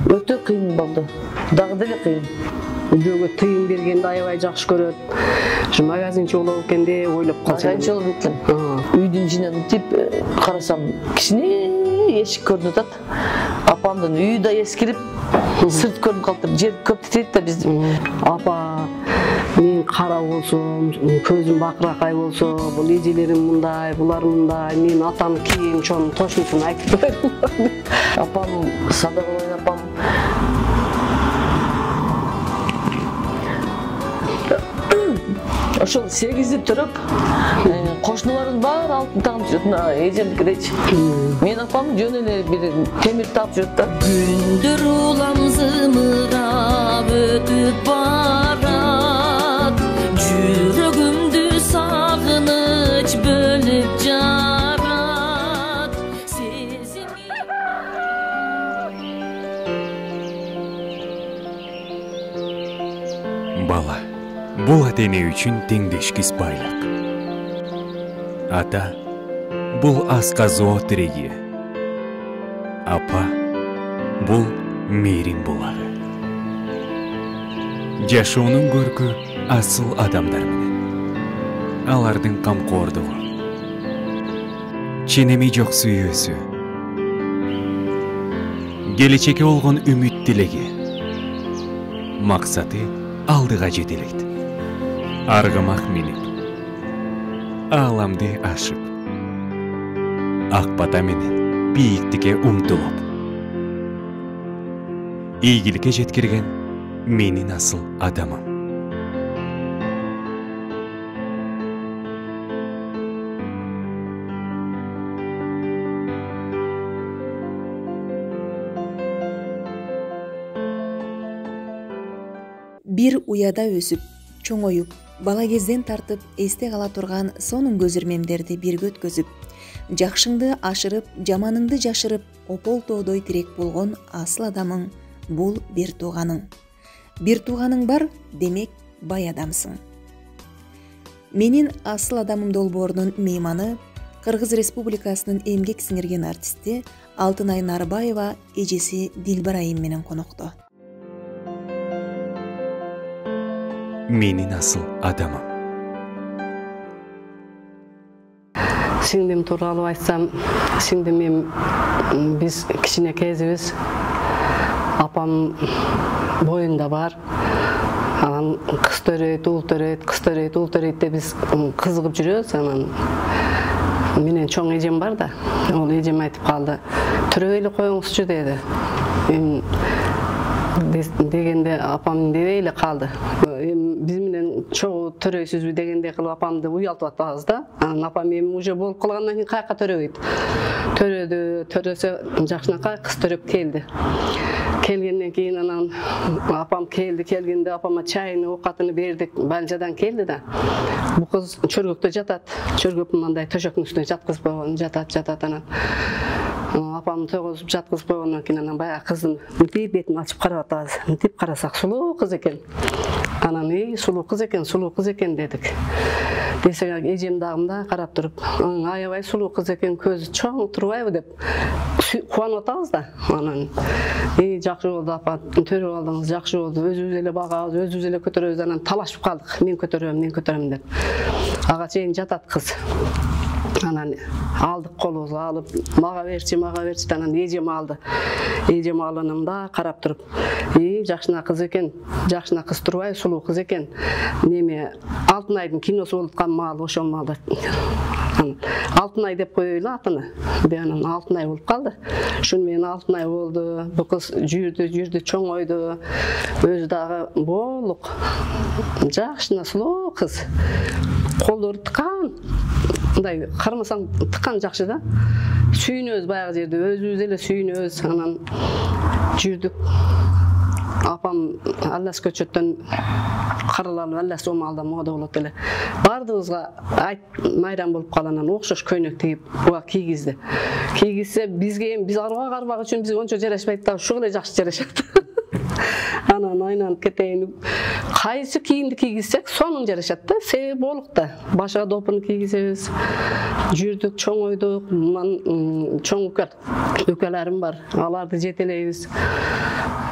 Өтө кыйын болду. Дагы деле кыйын. Бирөөгө тыйын бергенди аябай жакшы көрөт. Ушу магазинчи болобу экен деп ойлоп калчу. Магазинчи болуп экен. Үйдүн ичинен мынтип карасам, кичине эшик көрүнүп атат. Апамдын үйү да эскирип, сырт көрүнүп калыптыр. Жер көп титейт да биздин. Апа, мен кара болсом, көзүм бакыракай болсо, бул эжелерим мындай, булар мындай, мен атам кийин чоң тошмусун айтып койдум. Апам Садыгулайын апам ошол 8-ди төрөп, кошуналарыбыз баары алтын тагып жүрөт, эжемдикидечи. Мен апам жөн эле бир темир таап жүрөт да. Күндөр улам зымырап өтүп барат, жүрөгүмдү сагыныч бөлүп жарат. Бала бул ата-эне үчүн теңдешкис байлык. Ата бул асказоо тиреги. Апа бул мээрим булагы. Жашоонун көркү асыл адамдар менен. Алардын камкордугу, ченеми жок сүйүүсү, келечекке болгон үмүт тилеги, максаты алдыга жетелейт. Аргымак минип, ааламды ашып, ак бата менен бийиктикке умтулуп, ийгиликке жеткирген менин асыл адамым. Бир уяда өсүп, чоңоюп, бала кезден тартып эсте кала турган сонун көз ирмемдерди бирге өткөзүп, жакшыңды ашырып, жаманыңды жашырып, опол тоодой тирек болгон асыл адамың бул бир тууганың. Бир тууганың бар, демек бай адамсың. Менин асыл адамым долбоорунун мейманы Кыргыз Республикасынын эмгек сиңирген артисти Алтынай Нарбаева эжеси Дилбар айым менен конокто. Менин асыл адамым. Сиңдим тууралуу айтсам, сиңдим биз кичине кезибиз апам боюнда бар. Анан кыз төрөйт, уул төрөйт, кыз төрөйт, уул төрөйт деп биз кызыгып жүрөбүз. Анан менен чоң эжем бар да, ол эжем айтып калды, төрөй эле коюңузчу деди. Дегенде апам дебей эле калды. Биз менен чогуу төрөйсүзбү дегендей кылып апамды уялтып атабыз да. Анан апам эми уже болуп калгандан кийин каяка төрөбөйт. Төрөсө жакшынакай кыз төрөп келди. Келгенден кийин анан апам келгенде апама чайын, оокатын бердик. Балжадан келди да. Бу кыз чөргөктө жатат. Чөргөп мындай төшөктүн үстүнө жаткызып койгон, жатат анан. Апам тогузуп жаткызып койгондон кийин анан баягы кыздын мынтип бетин ачып карап атабыз. Мынтип карасак сулуу кыз экен. Анан сулуу кыз экен дедик. Десек эжем дагы мындай карап туруп, аябай сулуу кыз экен, көзү чоң турбайбы деп кубанып атабыз да. Анан жакшы болду апа, төрөп алдыңыз, жакшы болду. Өзүбүз эле багабыз, өзүбүз эле көтөрөбүз. Анан талашып калдык. Мен көтөрөм деп. Ага чейин жатат кыз. Анан алдык колубузга алып, мага берчи, анан эжем алды. Эжем алганымда карап туруп, жакшына кыз экен, жакшына кыз турбай, сулуу кыз экен. Неме Алтынайдын киносу болуп аткан маал, ошол маалда. Алтынай деп коелу атыны. Анан Алтынай болуп калды. Ушун менен Алтынай болду. Бу кыз жүрдү, чоңойду. Өзү дагы боолук, жакшына сулуу кыз. Колдору тыккан. Мындай кармасаң тыккан жакшы да. Сүйүнөбүз баягы жерде, өзүбүз эле сүйүнөбүз. Анан жүрдүк. Апам Аллас көчөттөн каралалып, Аллас омалда мода болот эле. Бардыгыбызга майрам болуп калгандан окшош көйнөк тигип, буга кийгизди. Кийгизсе бизге биз карбак үчүн бизге ончо жарашпайт да, ушул эле жакшы жарашат. Анан айнанып кетейин. Кайсы кийимди кийгизсек, сонун жарашат да, себеби болук да. Башка допуну кийгизебиз. Жүрдүк, чоңойдук, чоң үкөлөрүм бар. Аларды жетелейбиз.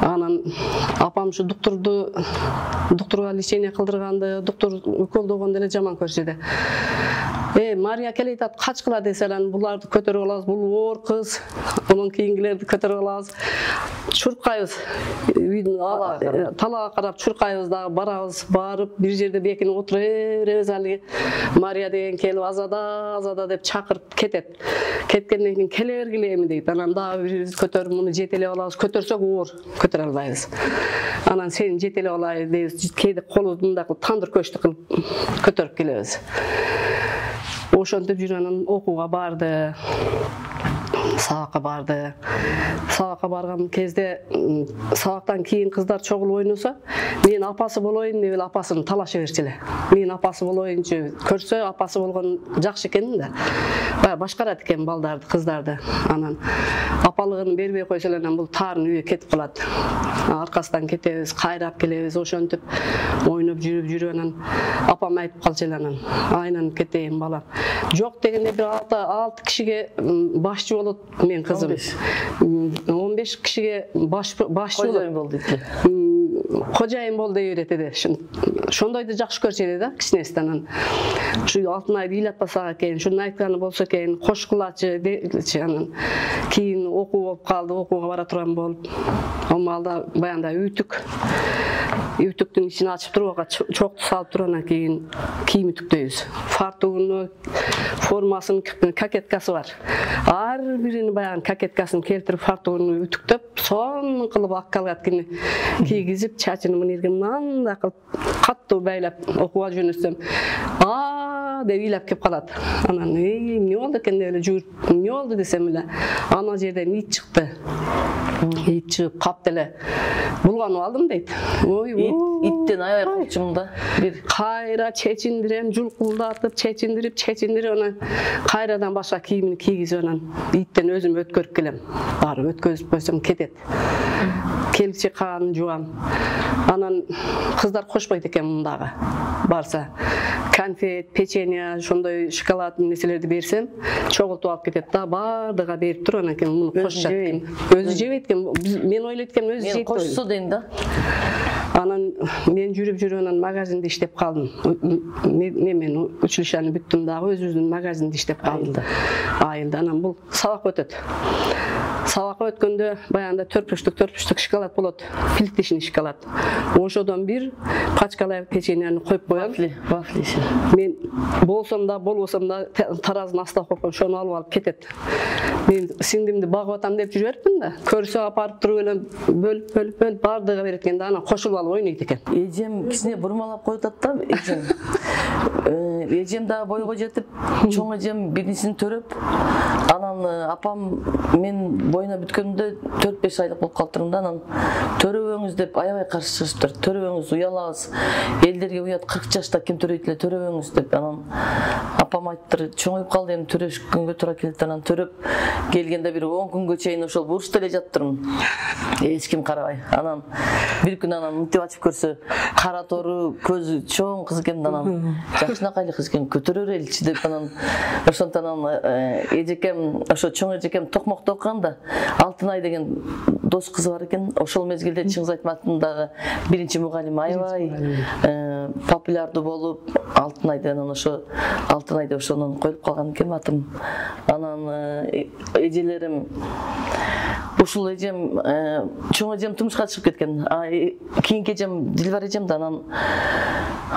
Анан апам ушу доктурга лечение кылдырганды, доктур уколдогонду эле жаман көрүшөдү. Мария келе атат, качкыла десе анан буларды көтөрүп алабыз, бул оор кыз, анан кийингилерди көтөрүп алабыз. Чуркайбыз. Талаага карап чуркайбыз дагы барабыз, барып бир жерде бекинип отура беребиз. Алиги Мария деген келип азада деп чакырып кетет. Кеткенден кийин келе бергиле эми дейт. Анан дагы бирибиз көтөрүп муну жетелеп алабыз. Көтөрсөк оор, көтөрө албайбыз. Анан сени жетелеп алайын дейбиз. Кээде колубузду мындай кылып тандыр көчтү кылып көтөрүп келебиз. Ошентип жүрүп анан окууга барды. Сабакка барды. Сабакка барган кезде сабактан кийин кыздар чогулуп ойносо, мен апасы болоюн деп эле апасын талаша берчү эле. Мен апасы болоюнчу, көрсө апасы болгон жакшы экен да. Баягы башкарат экен балдарды, кыздарды. Анан апалыгын бербей койсо эле анан бул тарын үйгө кетип калат. Аркасынан кетебиз, кайрап келебиз, ошентип ойноп жүрүп анан апам айтып калчу эле анан, айланып кетейин балам. Жок дегенде бир 6 кишиге башчы болот мен кызым. 15 кишиге башчы болот дейт. Кожайын бол дей берет эди. Ошондойду жакшы көрчү да кичинеси анан. Ушу Алтынайды ыйлатпасак экен, ушуну айтканы болсо экен, кош кылачы дечи анан. Кийин окуу болуп калды, окууга бара турган болуп. Алмалда баягында үтүктүн ичин ачып туруп, чокту салып туруп анан кийин кийим үтүктөйбүз. Фартугуну, формасынын какеткасы бар. Ар бирини баягы какеткасын келтирип фартугуну үтүктөп, сонун кылып аккалаткини кийгизип, чачын мынерге мындай кылып каттуу байлап окууга жөнөтсөм, деп ыйлап кеп калат. Анан эмне болду экен деп эле жүгүрүп, эмне болду десем эле, ана жерден ит чыкты. Ит чыгып капты эле. Булганып алдым дейт. Иттен аябай коркчумун да. Бир кайра чечиндирем, жулкулдатып, чечиндирип анан кайрадан башка кийимин кийгизип анан иттен өзүм өткөрүп келем. Барып өткөзүп койсом кетет. Келчи каганын жуам. Анан кыздар кошпойт экен мындагы. Барса конфет, печенье, ошондой шоколад нерселерди берсем, чогултуп алып кетет да, бардыга берип туруп анан кийин муну кошушат. Өзү жебейт экен. Мен ойлойт экенмин өзү жейт. Кошсо дейм да. Анан мен жүрүп анан магазинде иштеп калдым. Мен училищени бүттүм дагы өзүбүздүн магазинде иштеп калдым. Айылда анан бул сабак өтөт. Сабакка өткөндө баягында 4 шоколад болот, плиточный шоколад. Ошодон бир пачкалай печеньени коюп коем. Вафли. Мен болсом да, болбосом да таразынын астына коюп, ошону алып кетет. Мен сиңдимди багып атам деп жүрөтмүн да. Көрсө апарып туруп эле бөлүп бардыга берет экен да, анан кошулуп алып ойнойт экен. Эжем кичине бурмалап коюп атат да, эжем. Эжем дагы бойго жетип, чоң эжем биринчисин төрөп, анан апам мен бойуна бүткөндө 4-5 айлык болуп калыптырмын да, анан төрөбөңүз деп аябай каршы чыгыштыр. Төрөбөңүз, уялабыз. Элдерге уят 40 жашта ким төрөйт эле, төрөбөңүз деп. Анан апам айттыр, чоңоюп калды, эми төрөшкөнгө туура келет. Анан төрөп келгенде бир 10 күнгө чейин ошол бурчта эле жаттырмын. Эч ким карабай. Анан бир күн анан мынтип ачып көрсө, кара тору, көзү чоң кыз экен, анан жакшынакай кыз экен, көтөрө береличи деп анан ошондон анан эжекем, ошо чоң эжекем токмокто окуганда Алтынай деген дос кызы бар экен. Ошол мезгилде Чыңгыз Айтматовдагы биринчи мугалим аябай популярдуу болуп, Алтынайдан анан ошо Алтынайды ошонун коюп калган экен атым. Анан эжелерим ушул эжем, чоң эжем турмушка чыгып кеткен. Кийинки эжем Дилбар эжем да анан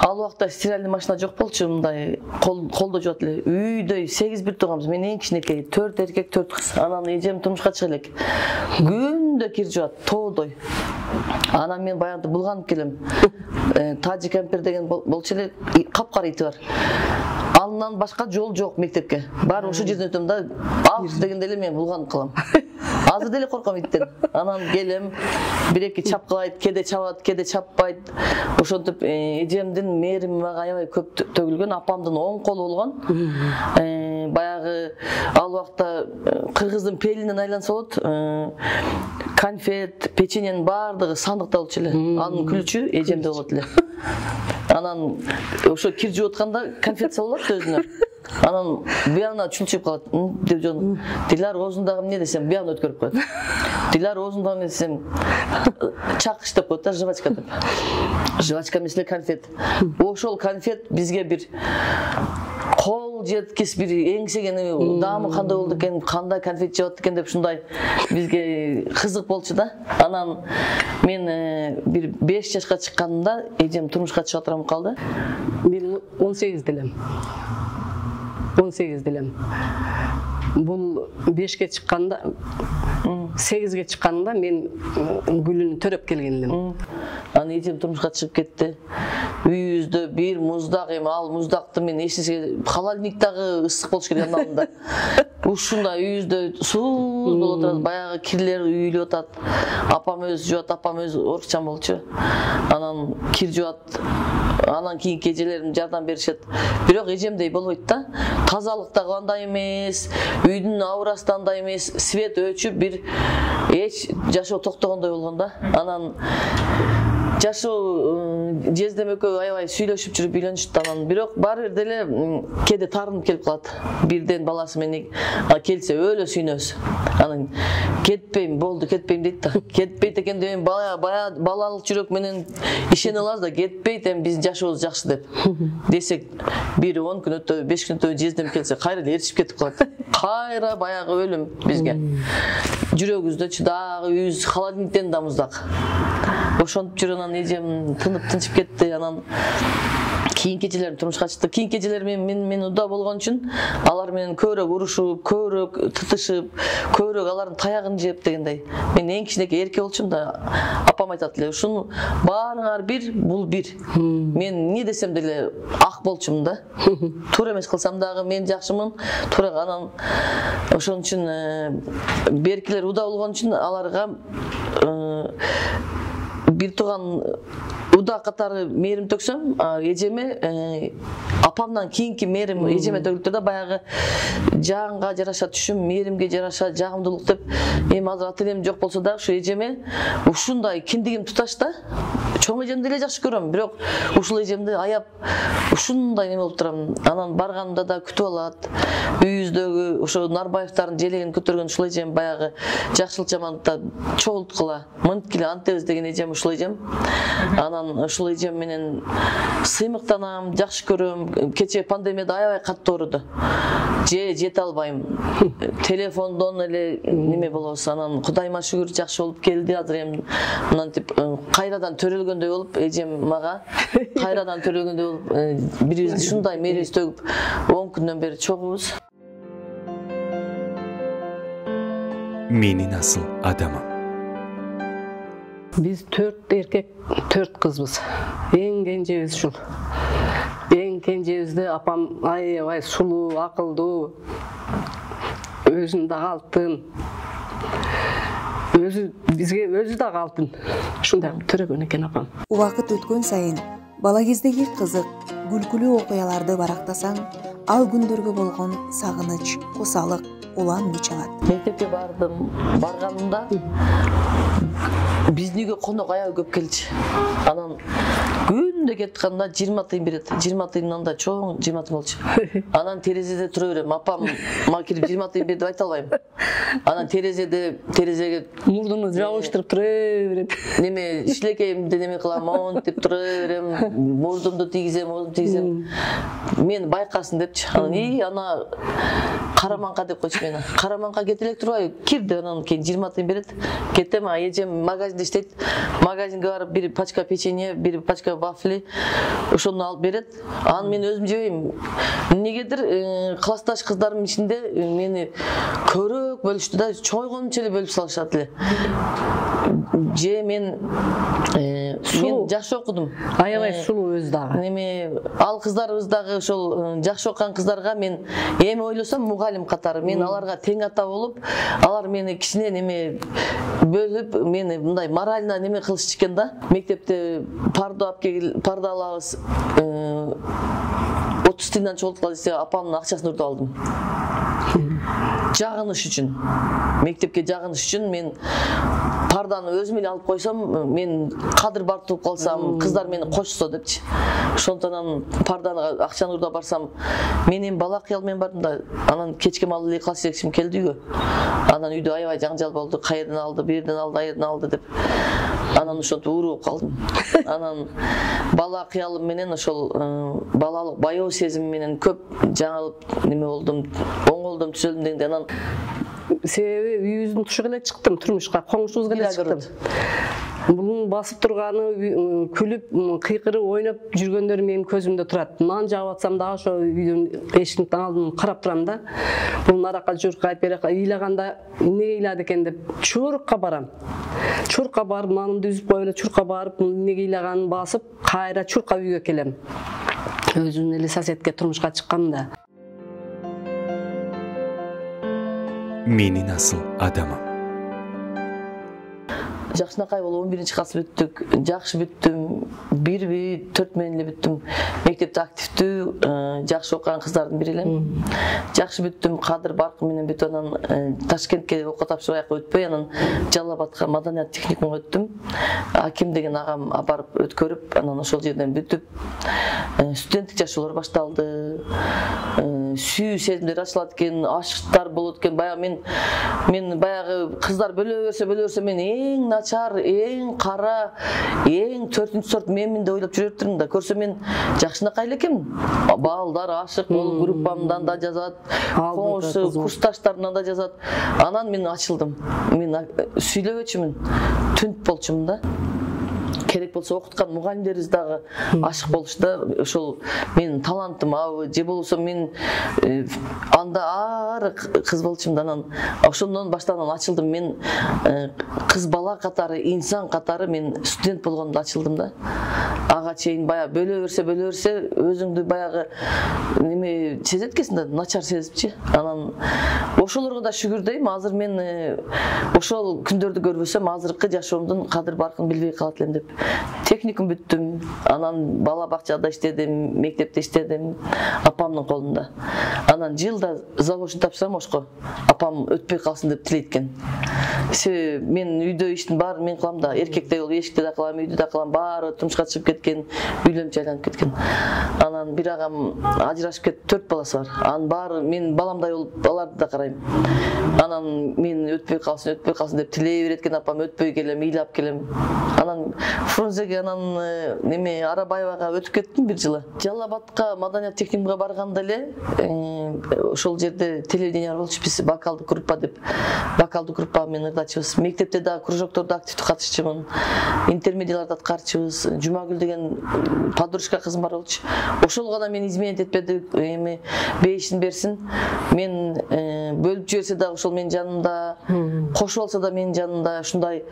ал убакта стиральный машина жок болчу, мындай колдо жуат эле. Үйдө 8 бир тууганбыз. Мен эң кичинекей, 4 эркек, 4 кыз. Анан эжем турмушка чыга элек. Күндө кир жуат, тоодой. Анан мен баягы булганып келем. Тажик Ампер деген болчу эле, капкара ити бар. Андан башка жол жок мектепке. Баары ошол жерден өтөм да, дегенде эле мен булганып калам. Азыр деле корком иттен. Анан келем, бир-эки чапкылайт, кеде чабат, кеде чаппайт. Ошентип эжемдин мээрими мага аябай көп төгүлгөн, апамдын оң колу болгон. Баягы ал убакта кыргыздын пелинен айланса болот. Конфет, печеньенин баардыгы сандыкта болчу эле. Анын күлчү эжемде болот эле. Анан ошо кир жууп атканда конфет салып өзүнө. Анан буягына чулчуп калат. Деп жон Дилар оозундагы эмне десем, буягына өткөрүп коет. Дилар оозундагы эмне десем, чакыш деп коет да, жвачка деп. Жвачка эмес эле конфет. Ошол конфет бизге бир кол жеткис бир эңсегени, даамы кандай болду экен, кандай конфет жеп экен деп ушундай бизге кызык болчу да. Анан мен бир 5 жашка чыкканымда эжем турмушка чыга турам калды. Мен 18 элем. 18 элем. Бул 5ке чыкканда, 8ге чыкканда мен гүлүнү төрөп келген элем. Анан эжем турмушка чыгып кетти. Үйүбүздө бир муздак эми, ал муздакты мен эчисе холодильниктагы ысык болуш керек алдында. Ушундай үйүбүздө сууз болуп турат, баягы кирлер үйүлүп атат. Апам өзү жуат, апам өзү орукчан болчу. Анан кир жуат. Анан кийинки эжелерим жардам беришет. Бирок эжемдей болбойт да. Тазалык дагы андай эмес, үйдүн аурасы да андай эмес, свет өчүп бир эч жашоо токтогондой болгон да. Анан жашоо жездем экөө аябай сүйлөшүп жүрүп үйлөнүштү. Анан бирок баары бир деле кээде таарынып келип калат. Бирден баласы менен келсе өлө сүйнөбүз. Анан кетпейм, болду кетпейм дейт да. Кетпейт экен деп балалык жүрөк менен ишене алабыз да, кетпейт, эми биздин жашообуз жакшы деп. Десек бир 10 күн өтө, 5 күн өтө жездем келсе кайра ээрчип кетип калат. Кайра баягы өлүм бизге. Жүрөгүбүздө дагы үйүбүз холодильниктен да муздак. Ошонуп жүрүп анан эжем тынып тынчып кетти. Анан кийинки эжелерим турмушка чыкты. Кийинки эжелерим мен уда болгон үчүн алар менен көбүрөөк урушуп, көбүрөөк тытышып, көбүрөөк алардын таягын жеп дегендей. Мен эң кичинекей эрке болчумун да. Апам айтат эле, ушуну баарыңар бир, бул бир. Мен эмне десем деле ак болчумун да. Туура эмес кылсам дагы мен жакшымын. Туура. Анан ошон үчүн беркилер уда болгон үчүн аларга бир тууган уда катары мээрим төксөм, эжеме апамдан кийинки мээрим эжеме төгүлүптүр да, баягы жаанга жараша түшүм, мээримге жараша жагымдуулук деп. Эми азыр ата энем жок болсо дагы ушу эжеме ушундай киндигим туташ да. Чоң эжемди эле жакшы көрөм, бирок ушул эжемди аяп ушундай неме болуп турам. Анан барганымда да күтүп алат. Үйүбүздөгү ошо Нарбаевдардын желегин көтөргөн ушул эжем, баягы жакшылык жамандыкта чогулткыла, мынткиле антебиз деген эжем ушул эжем. Анан ушул эжем менен сыймыктанам, жакшы көрөм. Кече пандемияда аябай катуу ооруду. Жете албайм. Телефондон эле неме болобуз. Анан Кудайыма шүгүр жакшы болуп келди. Азыр эми мынтип кайрадан төрөлгөндөй болуп, эжем мага кайрадан төрөлгөндөй болуп, бирибизди ушундай мээрибиз төгүп 10 күндөн бери чогубуз. Менин асыл адамым. Биз 4 эркек, 4 кызбыз. Эң кенжебиз ушул. Эң кенжебизди апам аябай сулуу, акылдуу, өзүн дагы алтын. Бизге өзү дагы алтын. Ушундай төрөгөн экен апам. Убакыт өткөн сайын бала кездеги кызык, күлкүлүү окуяларды барактасаң, ал күндөргө болгон сагыныч, кусалык улам күч алат. Мектепке барганымда биздин үйгө конок аябай көп келчү. Анан күндө кетканда 20 тыйын берет. 20 тыйындан да чоң 20 тыйын болчу. Анан терезеде тура берем. Апам мага кирип 20 тыйын бер деп айта албайм. Анан терезеге мурдуну жабыштырып тура берет. Неме шилекейимди неме кылам, монтип тура берем. Мурдумду тийгизем. Мен байкасын депчи. Анан ана караманка деп койчу мени. Караманка кете элек турбайбы? Кир деп анан кийин 20 тыйын берет. Кетем, эжем магазинде иштейт. Магазинге барып бир пачка печенье, бир пачка вафли ошону алып берет. Аны мен өзүм жебейм. Эмнегедир классташ кыздарымдын ичинде мени көрөк бөлүштү да, чойгончу эле бөлүп салышат эле. Мен жакшы окудум. Аябай сулуу өзү дагы. Неме ал кыздарыбыз дагы ошол жакшы окуган кыздарга мен эми ойлосом мугалим катары мен аларга тең ата болуп, алар мени кичине неме бөлүп, мени мындай морально неме кылышчу экен да. Мектепте парда алабыз. 30 тыйындан чогулткула десе, апамдын акчасын урдуп алдым. жагыныш үчүн, мектепке жагыныш үчүн мен парданы өзүм эле алып койсом, мен кадыр бартып калсам, кыздар мени кочсо депчи. Ошондон парданы акчаны урдап барсам, мен эми бала кыял менен бардым да, анан кечке маалы эле класс жетекчим келди үйгө. Анан үйдө аябай жаңжал болду, каерден алды, бирден алды, аерден алды деп. Анан ошентип ууру болуп калдым. Анан бала кыялым менен ошол балалык баяу сезим менен көп жаңылып неме болдум, оңолдум, түзөлдүм дегенде анан себеби үйүбүздүн тушуга эле чыктым, турмушка, коңшубузга эле чыктым. Bunun басып турганы, күлүп, кыйкырып, ойноп жүргөндөрү менин көзүмдө турат. Нан жаап атсам да ошо үйдүн эшиктин алдын карап турам да. Бул наракка журкайт, беракка ыйлаганда эмнеге ыйлады экен деп чурукка барам. Чурукка барып, нанымды үзүп коюп эле чурукка барып, эмнеге ыйлаганын басып, кайра чурукка үйгө келем. Өзүм эле соседке турмушка чыккам да. Менин асыл адамым. Жакшынакай болуп 11-класс бүттүк, жакшы бүттүм, 1-4 менен эле бүттүм. Мектепте активдүү, жакшы окуган кыздардын бири элем. Жакшы бүттүм, кадыр баркы менен бүтүп анан Ташкентке окуу тапшырып өтпөй, анан Жалал Абадка маданият техникумга өттүм. Аким деген агам апарып өткөрүп, анан ошол жерден бүтүп, студенттик жашоолор башталды. Сүйүү сезимдер ачылат экен, ашыктар болот экен. Баягы мен баягы кыздар бөлө берсе мен эң начар, эң кара, эң 4-сорт менмин деп ойлоп жүрөптүрмүн да. Көрсө мен жакшынакай эле экенмин. Балдар ашык болуп группамдан да жазат, коңшу курсташтарымдан да жазат. Анан мен ачылдым. Мен сүйлөбөчүмүн, түнт болчумун да. Керек болсо окуткан мугалимдерибиз дагы ашык болушта, ошол менин талантым абы же болбосо мен анда ары кыз болчумун да. Анан ошондон баштап ачылдым. Мен кыз бала катары, инсан катары мен студент болгондо ачылдым да. Ага чейин баягы бөлө берсе өзүңдү баягы неме сезет экенсиң да, начар сезипчи. Анан ошолорго да шүгүр дейм. Азыр мен ошол күндөрдү көрбөсөм, азыркы жашоомдун кадыр баркын билбей калат элем деп. Техникум бүттүм, анан бала бакчада иштедим, мектепте иштедим, апамдын колунда. Анан жылда заочный тапшырсам ошко, апам өтпөй калсын деп тилейт экен. Себеби мен үйдө иштин баарын мен кылам да, эркектей болуп эшикте да кылам, үйдө да кылам, баары турмушка чыгып кеткен, үйлөнүп жайланып кеткен. Анан бир агам ажырашып кетип 4 баласы бар. Анын баары мен баламдай болуп баларды да карайм. Анан мен өтпөй калсын деп тилей берет экен апам, өтпөй келем, ыйлап келем. Анан Фрунзеге анан неме Арабаевага өтүп кеттим бир жылы. Жалал Абадка маданият техникумга барганда эле ошол жерде телевидение болчу, биз вокалдык группа деп. Вокалдык группа мен ырдачыбыз. Мектепте да кружоктордо активдүү катышчумун. Интермедиаларды аткарчыбыз. Жумагүл деген подружка кызым бар болчу. Ошолго да мен изменить этпеди, эми бейишин берсин. Мен бөлүп жиберсе да ошол менин жанымда, кошуп алса да менин жанымда, ушундай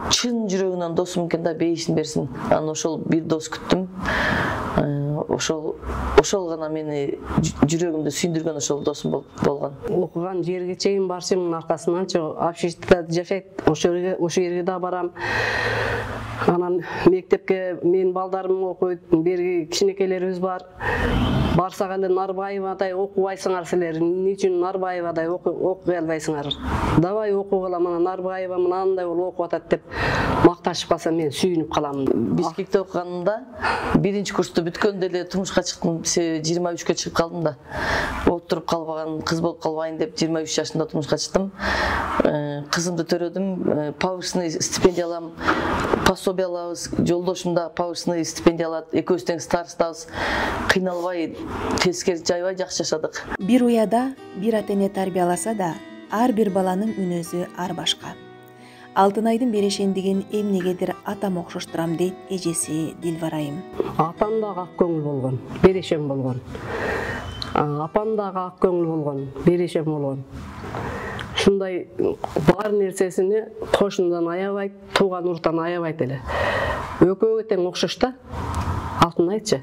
чын жүрөгүнөн досум экен да, бейишин берсин. Анан ошол бир дос күттүм. Ошол гана мени жүрөгүмдү сүйүндүргөн ошол досум болгон. Окуган жерге чейин барсымын аркасынан, общежитиеде жашайт, ошол жерге да барам. Анан мектепке менин балдарым окуйт, берги кичинекейлерибиз бар. Барсак эле Нарбаевадай окубайсыңар силер, эмне үчүн Нарбаевадай окуй албайсыңар? Давай окугула, мына Нарбаева мынандай болуп окуп атат деп макташып калса мен сүйүнүп калам. Бишкекте окуганымда 1-чи курсту бүткөндө эле турмушка чыктым, 23-кө чыгып калдым да. Отуруп калбаган, кыз болуп калбайын деп 23 жашында турмушка чыктым. Кызымды төрөдүм, повышенный стипендия алам, пособие алабыз, жолдошум да повышенный стипендия алат, экөөбүз тең старостабыз. Кыйналбай, тескери жайбай жакшы жашадык. Бир уяда бир ата-эне тарбияласа да, ар бир баланын мүнөзү ар башка. Алтынайдын берешендигин эмнегедир атам окшоштурам дейт эжеси Дилбарайым. Атам дагы ак көңүл болгон, берешем болгон. Апам дагы ак көңүл болгон, берешем болгон. Ушундай бар нерсесини кошундан аябайт, тууган уруттан аябайт эле. Экөөгө тең окшош да. Алтынайчы.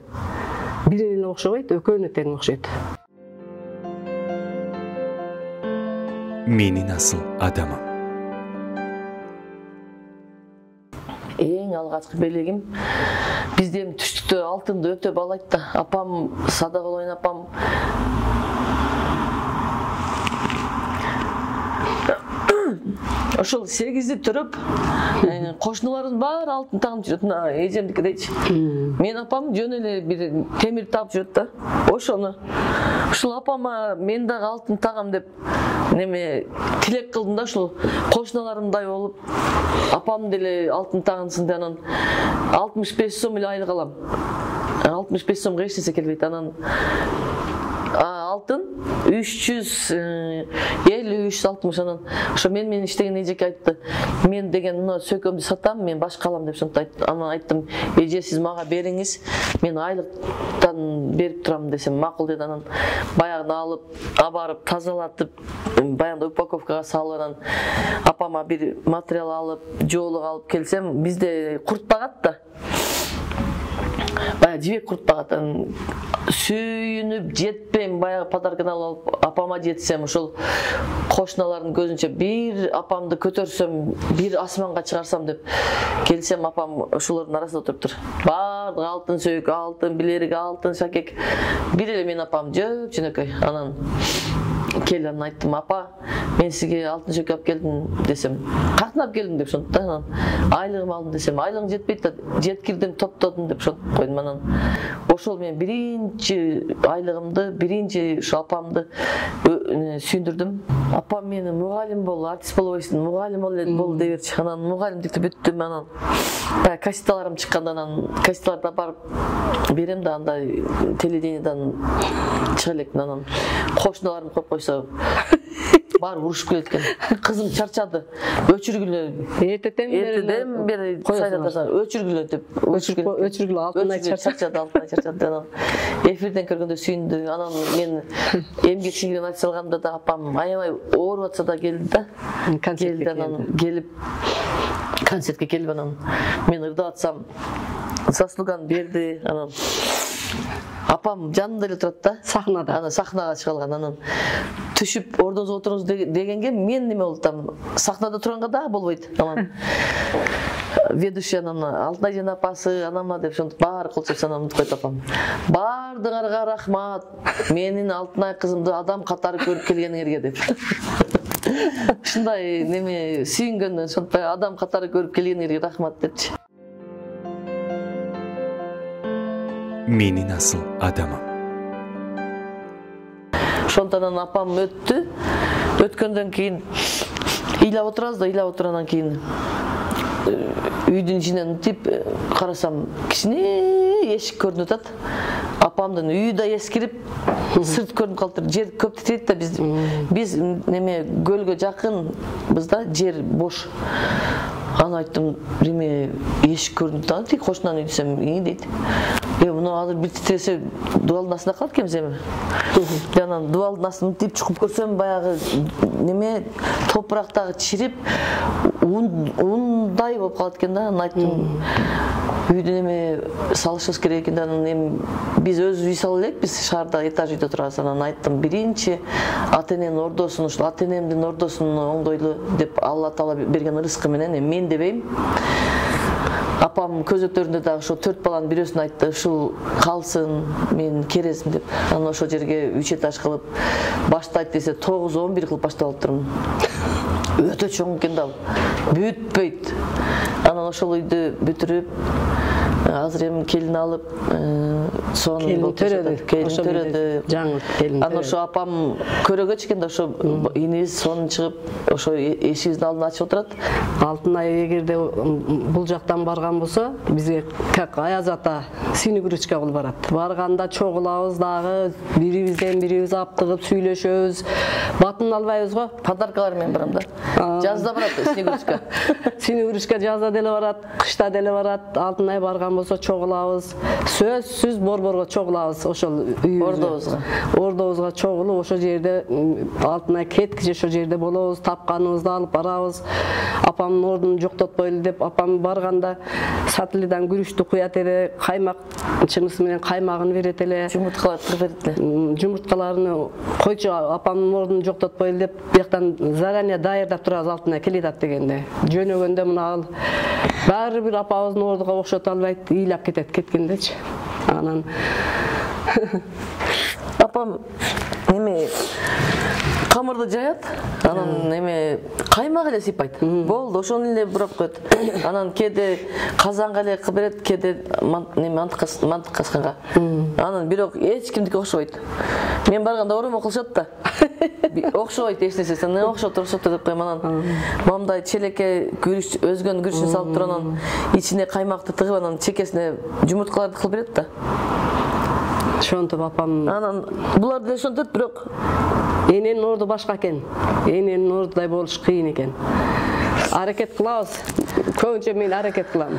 Бирине окшобойт, экөөнө тең окшойт. Менин асыл адамым. Эң алгачкы белегим бизде эми түштүктө алтынды өтө баалайт да. Апам Садыгулайын апам ошол 8-ди төрөп, кошуналардын баары алтын тагып жүрөт. Мына эжемдики дейчи. Мен апам жөн эле бир темир таап жүрөт да. Ошону ушул апама мен дагы алтын тагам деп неме тилек кылдым да, ушул кошуналарымдай болуп, апам деле алтын тагынсын деп, анан 65 сом эле айлык алам. 65 сомго эч нерсе келбейт. Анан алтын 350-360. Анан ошо мен иштеген эжеке айтты, мен деген мына сөкөмдү сатам, мен башка алам деп ошентип айтты. Анан айттым, эже сиз мага бериңиз, мен айлыктан берип турам десем макул деди. Анан баягыны алып, абарып, тазалатып, баягы упаковкага салып, анан апама бир материал алып, жоолук алып келсем, бизде курт багат да. Баягы жибек курт багат. Сүйүнүп жетпейм, баягы подарканы алып апама жетсем, ошол кошуналардын көзүнчө бир апамды көтөрсөм, бир асманга чыгарсам деп келсем, апам ошолордун арасында отуруптур. Баардыгы алтын сөйк, алтын билерик, алтын шакек. Бир эле мен апам жөнөкөй. Анан келип анан айттым, апа, мен сизге алтын сөйк алып келдим десем, каяктан алып келдиң деп ошентти. Анан айлыгым алдым десем, айлыгың жетпейт да, жеткирдим, топтодум деп ошентип койдум. Анан ошол мен биринчи айлыгымды, биринчи ошо апамды сүйүндүрдүм. Апам мени мугалим бол, артист болбойсуң, мугалим бол дей берчи. Анан мугалимдикти бүттүм. Анан баягы кассеталарым чыкканда, анан кассеталарды барып берем да, андай телевидениедан чыга элекмин. Анан кошуналарым коюп койсо баары урушуп келет экен. Кызым чарчады, өчүргүлө. Эртеден бери сайратасың, өчүргүлө деп. Өчүргүлө алтынай чарчады, алтынай чарчады. Анан эфирден көргөндө сүйүндү. Анан мен эмгек сиңирим айтып салганда да апам аябай ооруп атса да келди да. Келди, анан келип концертке келип, анан мен ырдап атсам, заслуганы берди. Анан апам жанында эле турат да, сахнада. Анан сахнага чыга алган. Анан түшүп ордоңузга отуруңуз дегенге мен неме болдум, сахнада турганга дагы болбойт. Анан ведущий анан Алтынайжан апасы, анамна деп ошентип баары кол чапса, анан унутуп койт апам. Баардыгыңарга рахмат, менин Алтынай кызымды адам катары көрүп келгениңерге деп. Ушундай неме сүйүнгөндөн ошентип адам катары көрүп келгениңерге рахмат депчи. Менин асыл адамым. Ошондон апам өттү. Өткөндөн кийин ыйлап отурабыз да, ыйлап отургандан кийин үйдүн ичинен мынтип карасам, кичине эшик көрүнүп атат. Апамдын үйү да эскирип, сырт көрүнүп калыптыр. Жер көп титирейт да, биз неме көлгө жакынбыз да, жер бош. Аны айттым, биреме эшик көрүнүп да, тиги кошунан үй десем, дейт. Муну азыр бир титресе дубалдын астында калат экенбиз эми. Анан дубалдын астын мынтип чукуп көрсөм, баягы неме топурактагы чирип, ундай болуп калат экен да. Анан айттым, үйдүн эме салышыбыз керек экен да. Анан эми биз өзүбүз үй сала элекпиз, шаарда этаж үйдө турабыз. Анан айттым, биринчи ата-эненин ордосун, ушул ата-энемдин ордосун оңдойлу деп Алла Таала берген ырыскы менен мен дебейм. Апам көзөктөрүндө дагы ошо 4 баланын бирөөсүн айтты, ушул калсын, мен кересим деп. Анан ошол жерге 3 этаж кылып баштайт десе 9-11 кылып баштап алыптырмын. Өтө чоң экен да, бүтпөйт. Анан ошол үйдү бүтүрүп, азыр эми келин алып, сонун төрөдү. Жаңы келин. Анан ошо апам көрөгө чыккан да, ошо инибиз сонун чыгып, ошо эшигибиздин алдына ачып отурат. Алтынай эгерде бул жактан барган болсо, бизге как Аяз ата синегурочка кылып барат. Барганда чогулабыз дагы, бирибизден бирибиз аптыгып сүйлөшөбүз. Батын албайбыз го. Подаркалар менен барам да. Жазда барат синегурочка. Синегурочка жазда деле барат, кышта деле барат. Алтынай барган болсо чогулабыз. Сөзсүз борборго чогулабыз ошол үйүбүзгө. Ордобузга чогулуп, ошол жерде Алтынай кеткиче ошол жерде болобуз, тапканыбызды алып барабыз. Апамдын ордун жоктотпойлу деп, апам барганда сатылыдан күрүчтү куят эле, каймак чынысы менен каймагын берет эле. Жумурткаларды берет эле. Жумурткаларын койчу, апамдын ордун жоктотпойлу деп, бияктан заранее даярдап турабыз Алтынай келет дегенде. Жөнөгөндө мына ал баары бир апабыздын ордуга окшото албайт, ыйлап кетет кеткендечи. Анан апам эми камырды жаят, анан эме каймак эле сыйпайт. Болду, ошону эле бурап коет. Анан кээде казанга эле берет, кээде мантык касканга. Анан бирок эч кимдики окшобойт. Мен барганда оромо кылышат да. Окшобойт эч нерсе, сен окшоп деп коем. Анан мамдай челекке күрүч, өзгөн күрүчүн салып туруп, анан ичине каймакты тыгып, анан чекесине жумурткаларды кылып берет да. Ошонтип апам. Анан булар деле ошентет, бирок Эненин орду башка экен. Эненин ордудай болуш кыйын экен. Аракет кылабыз. Көбүнчө мен аракет кылам.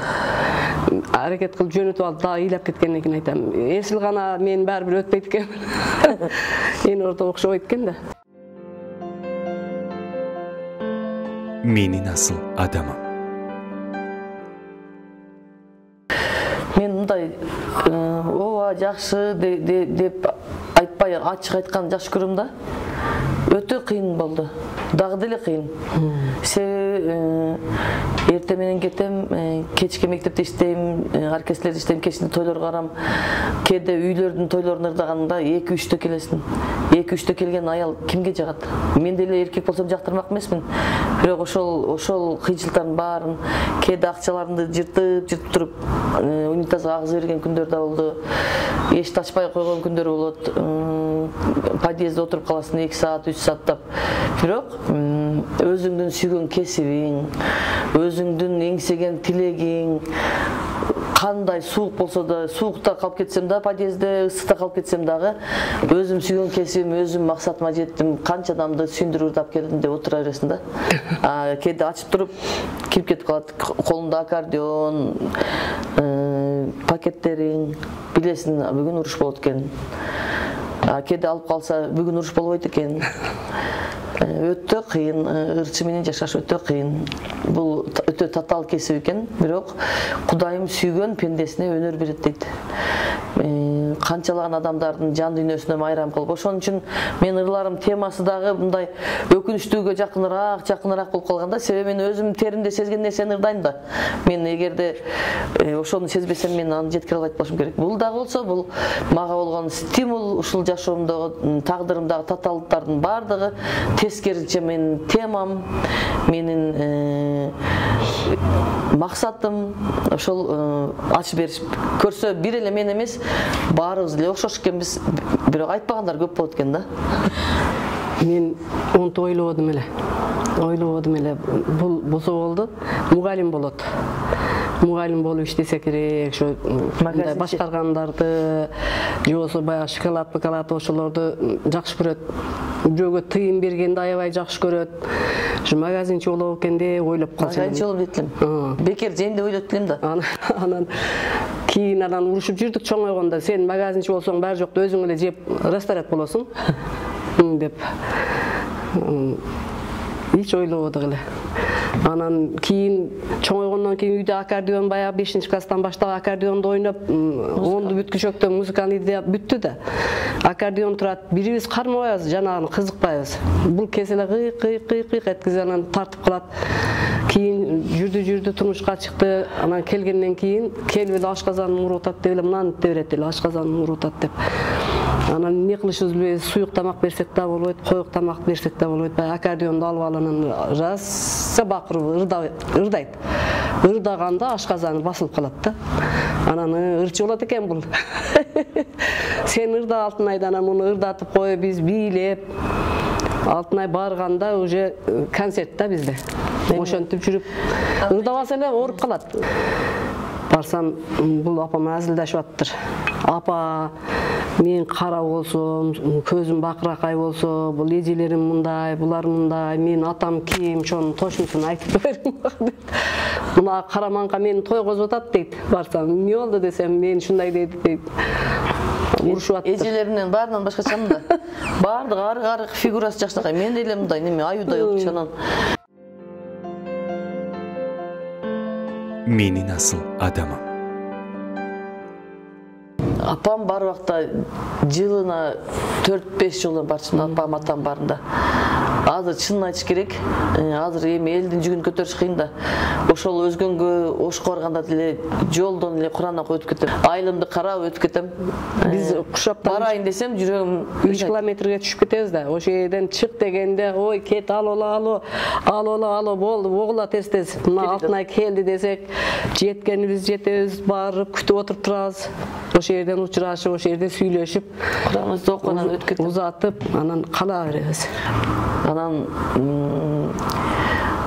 Аракет кылып жөнөтүп алып дагы ыйлап кеткенден кийин айтам. Эсил гана мен баары бир өтпөйт экен. Энен орду окшобойт экен да. Менин асыл адамым. Мен мындай ооба жакшы деп айтпай ачык айтканды жакшы көрөм да. Өтө кыйын болду. Дагы деле кыйын. Себеби эрте менен кетем, кечке мектепте иштейм, оркестрде иштейм, кечинде тойлорго барам. Кээде үйлөрдүн тойлорун ырдаганда 2-3тө келесиң. 2-3тө келген аял кимге жагат? Мен деле эркек болсом жактырмак эмесмин. Бирок ошол кыйынчылыктардын баарын, кээде акчаларымды жыртып туруп, унитазга агызып берген күндөр да болду. Эшикти ачпай койгон күндөр болот. Подъездде отуруп каласың 2 саат, 3 сааттап. Бирок өзүңдүн сүйгөн кесибиң, өзүңдүн эңсеген тилегиң, кандай суук болсо да, суукта калып кетсем да, подъездде ысыкта калып кетсем дагы, өзүм сүйгөн кесибим, өзүм максатыма жеттим, канча адамды сүйүндүрүп ырдап келдим деп отура бересиң да. Кээде ачып туруп кирип кетип калат, колунда аккордеон, пакеттериң, билесиң, бүгүн уруш болот экен. Кээде алып калса, бүгүн уруш болбойт экен. Өтө кыйын, ырчы менен жашаш өтө кыйын. Бул өтө татаал кесип экен, бирок Кудайым сүйгөн пендесине өнөр берет дейт. Канчалаган адамдардын жан дүйнөсүнө майрам кылып. Ошон үчүн мен ырларым темасы дагы мындай өкүнүчтүүгө жакыныраак болуп калганда, себеби мен өзүм теримде сезген нерсени ырдайм да. Мен эгерде ошону сезбесем, мен аны жеткире албайт болушум керек. Бул дагы болсо, бул мага болгон стимул, ушул жашоомдогу, тагдырымдагы татаалдыктардын баардыгы тескеринче менин темам, менин максатым ошол ачып бериш. Көрсө бир эле мен эмес, баарыбыз эле окшош экенбиз, бирок айтпагандар көп болот экен да. Мен онтип ойлободум эле. Бул болсо болду, мугалим болот. Мугалим болуп иштесе керек, ошо мындай башкаргандарды, же болбосо баягы шоколад ошолорду жакшы көрөт. Бирөөгө тыйын бергенди аябай жакшы көрөт. Ошо магазинчи болобу экен деп ойлоп калсам. Магазинчи болуп кетем. Бекер жейм деп ойлоп келем да. Анан кийин урушуп жүрдүк чоңойгондо, сен магазинчи болсоң баары жокто өзүң эле жеп ресторат болосуң деп. Эч ойлободук эле. Анан кийин чоңойгондон кийин үйдө аккордеон, баягы 5-класстан баштап аккордеонду ойноп, 10-ду бүткүчөктө музыканы идея бүттү да. Аккордеон турат, бирибиз кармабайбыз, жанагы кызыкпайбыз. Бул кеселе кый эткизе анан тартып калат. Кийин жүрдү, турмушка чыкты. Анан келгенден кийин келип эле ашказанын урутат деп эле, мынаны ите берет эле, ашказанын урутат деп. Анан эмне кылышыбызды билбейбиз, суюк тамак берсек да болбойт, коюк тамак берсек да болбойт. Баягы аккордеонду алып анан жазса бакырып ырдайт. Ырдаганда ашказаны басылып калат да. Анан ырчы болот экен бул. Сен ырда Алтынайды, анан муну ырдатып коюп, биз бийлеп. Алтынай барганда уже концерт да бизде. Ошентип жүрүп, ырдабаса эле ооруп калат. Барсам, бул апам азилдашып аттыр. Апа, мен кара болсом, көзүм бакыракай болсо, бул эжелерим мындай, булар мындай, мен атам ким, ошонун точнусун айтып бериң. Мына караманга мени тойгозуп атат дейт. Барсам, эмне болду десем, мен ушундай дейт. Урушуп аттыр. Эжелеримден баарынан башкачамын да. Баардыгы арык фигурасы жакшынакай. Мен деле мындай неме аюудай болчу анан. Менин асыл адамым. Апам бар убакта жылына 4-5 жолу барчумун, апам атам барында. азыр чынын айтыш керек, азыр эми элдин жүгүн көтөрүш кыйын да. Ошол өзгөнгө ошко барганда деле жолдон эле Кур'ан окуп өтүп кетем. Айылымды карап өтүп кетем. Биз кушаптан барайын десем жүрөгүм 3 километрге түшүп кетебиз да. Ошол жерден чык дегенде, ой, кет, алуу болду, огула тез. Мына Алтынай келди десек, жеткенибиз жетебиз, барып күтүп отуруп турабыз. Ошол жерден учурашып, ошол жерде сүйлөшүп, Кураныбызды окугандан өтүп кетем. Узатып, анан кала беребиз. Анан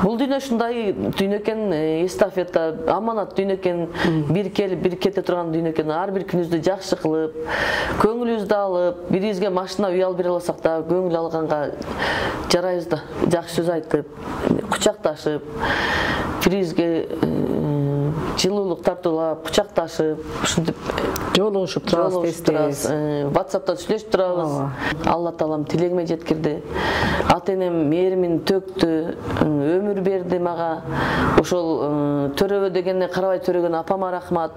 бул дүйнө ушундай дүйнө экен, эстафета, аманат дүйнө экен, бир келип, бир кете турган дүйнө экен. Ар бир күнүбүздү жакшы кылып, көңүлүбүздү алып, бирибизге машина үй алып бере алсак да, көңүл алганга жарайбыз да. Жакшы сөз айтып, кучакташып, бирибизге жылуулук тартуулап, кучакташып, ушинтип жолугушуп турабыз, тез. WhatsApp'та сүйлөшүп турабыз. Алла таалам тилегиме жеткирди. Ата-энем мээримин төктү, өмүр берди мага. Ошол төрөбө дегенде карабай төрөгөн апама рахмат,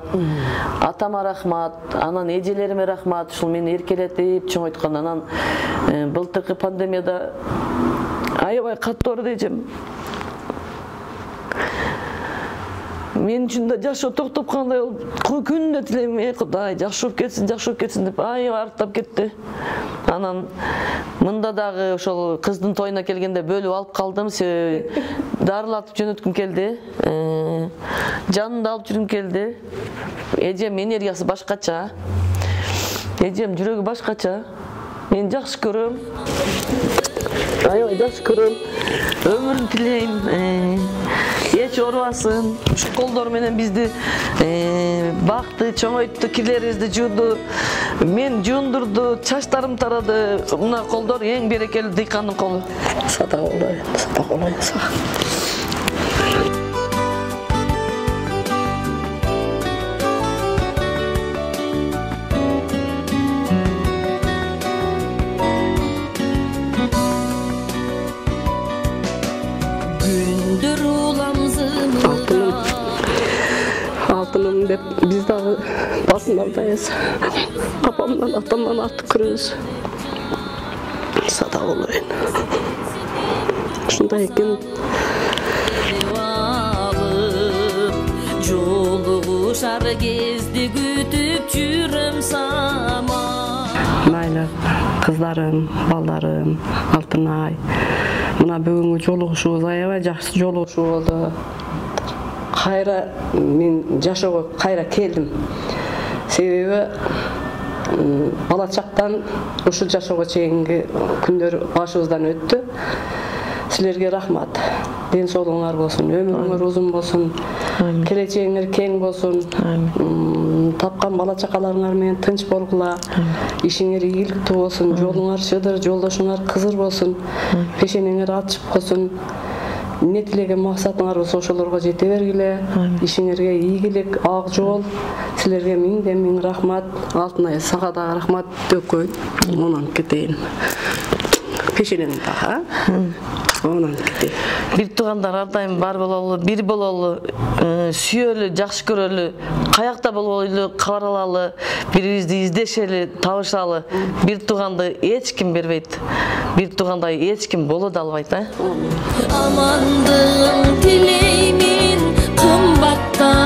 атама рахмат, анан эжелериме рахмат. Ушул мени эркелетип чоңойткон. Анан былтыркы пандемияда аябай катуу ооруду эжем. Мен үчүн да жашоо токтоп кандай болуп, күнүнө тилейм, Кудай жакшы болуп кетсин деп аябай арттап кетти. Анан мында дагы ошол кыздын тоюна келгенде бөлүп алып калдым, себеби дарылатып жөнөткүм келди. Жанымда алып жүргүм келди. Эжем энергиясы башкача. Эжем жүрөгү башкача. Мен жакшы көрөм. Аябай жакшы көрөм. Өмүрүн тилейм. Эч оорубасын. Ушу колдор менен бизди бакты, чоңойтtu, кирлерибизди жууду, мен жуундурду, чачтарым тарады. Мына колдор эң берекелүү дыйкандын колу. Садак болоюн. Алтыным деп биз дагы басындардайбыз. Апамдан, атамдан артып көрөбүз. Садак болоюн. Ушундай экен. Жолугушар кезде күтүп жүрөм сама. Майлы кыздарым, балдарым, Алтынай. Мына бүгүнкү жолугушубуз аябай жакшы жолугушуу болду. Кайра мен жашоого кайра келдим. Себеби бала чактан ушул жашоого чейинки күндөр башыбыздан өттү. Силерге рахмат. Ден соолугуңар болсун, өмүрүңөр узун болсун, келечегиңер кең болсун. Тапкан бала чакаларыңар менен тынч болгула. Ишиңер ийгиликтүү болсун, жолуңар шыдыр, жолдошуңар кызыр болсун, пешенеңер ачык болсун. Не тилеген максатыңар болсо ошолорго жете бергиле. Ишиңерге ийгилик, ак жол. Силерге миңден миң рахмат. Алтынай, сага дагы рахмат дөкөй. Онан кетейин. Пешенени дагы, онан кетейин. Бир туугандар ар дайым бар бололу, бир бололу, сүйөлү, жакшы көрөлү, каякта болбойлу, кабар алалы, бирибизди издешели, табышалы. Бир тууганды эч ким бербейт. Бир туугандай эч ким боло да албайт, Амандык тилеймин кымбатта